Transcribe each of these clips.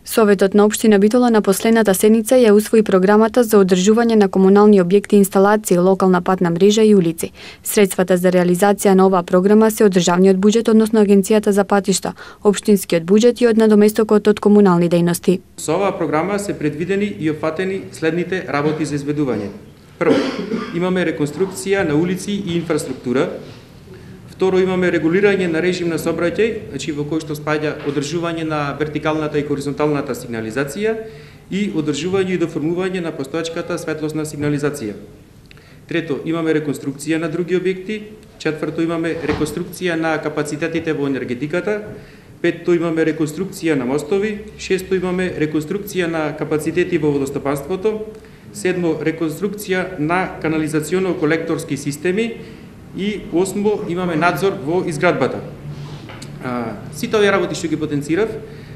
Советот на општина Битола на последната седница ја усвои програмата за одржување на комунални објекти и инсталации, локална патна мрежа и улици. Средствата за реализација на оваа програма се од државниот буџет, односно Агенцијата за патишта, општинскиот буџет и од надоместокот од комунални дејности. Со оваа програма се предвидени и опфатени следните работи за изведување. Прво, имаме реконструкција на улици и инфраструктура. Второ, имаме регулирање на режим на сообраќај, значи во кој што спаѓа одржување на вертикалната и хоризонталната сигнализација и одржување и доформување на постоечката светлосна сигнализација. Трето, имаме реконструкција на други објекти. Четврто, имаме реконструкција на капацитетите во енергетиката. Петто, имаме реконструкција на мостови. Шесто, имаме реконструкција на капацитети во водостопанството. Седмо, реконструкција на канализационно-колекторски системи. И осмо, имаме надзор во изградбата. Сите овие работи што ги потенцирав,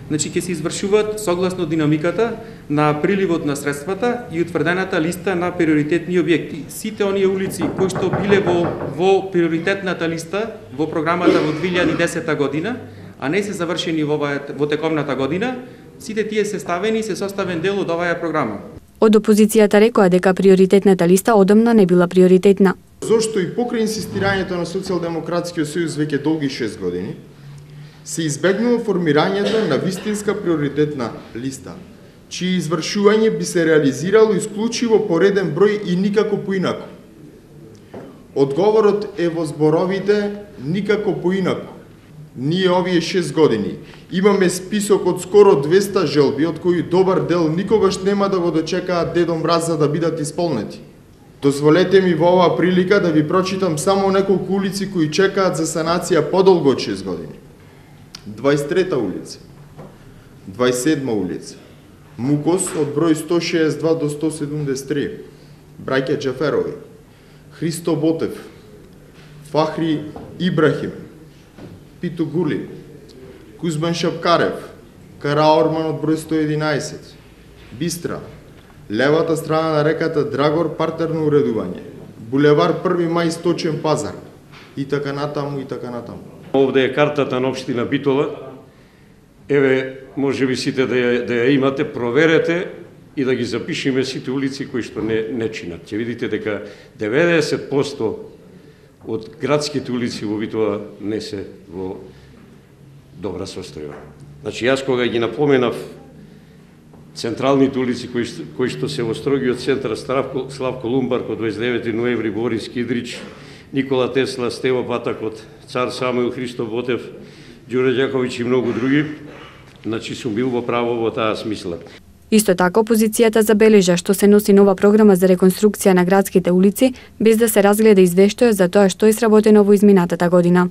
значи ќе се извршуваат согласно динамиката на приливот на средствата и утврдената листа на приоритетни објекти. Сите оние улици кои што биле во приоритетната листа во програмата во 2010 година, а не се завршени во тековната година, сите тие се ставени и се составен дел од оваа програма. Од опозицијата рекоа дека приоритетната листа одамна не била приоритетна. Зошто и покрај инсистирањето на Социјалдемократскиот сојуз веќе долги 6 години, се избегнува формирањето на вистинска приоритетна листа, чие извршување би се реализирало исклучиво по реден број и никако поинаку. Одговорот е во зборовите никако поинаку. Ние овие 6 години имаме список од скоро 200 желби, од кои добар дел никогаш нема да го дочекаат Дедо Мраз за да бидат исполнети. Дозволете ми во оваа прилика да ви прочитам само неколку улици кои чекаат за санација подолго од 6 години. 23-та улица, 27-ма улица, Мукос од број 162 до 173, браќа Џаферови, Христо Ботев, Фахри Ибрахим, Пито Гули, Кузман Шапкарев, Караорман од број 111, Бистра, левата страна на реката Драгор, партерно уредување, булевар 1 мај, Сточен пазар, и така натаму, и така натаму. Овде е картата на општина Битола. Еве, може би сите да ја имате, проверете и да ги запишеме сите улици кои што не чинат. Ќе видите дека 90% од градските улици во Битола не се во добра состојба. Значи, јас кога ги напоменав централните улици кои што се во строгиот центар Славко Лумбарк од 29 ноември, Борис Кидрич, Никола Тесла, Стево Патакот, Цар Самуил, Христо Ботев, Ѓуре Ѓаковиќ и многу други, значи сум бил во право во таа смисла. Исто така, опозицијата забележа што се носи нова програма за реконструкција на градските улици, без да се разгледа извештајот за тоа што е сработено во изминатата година.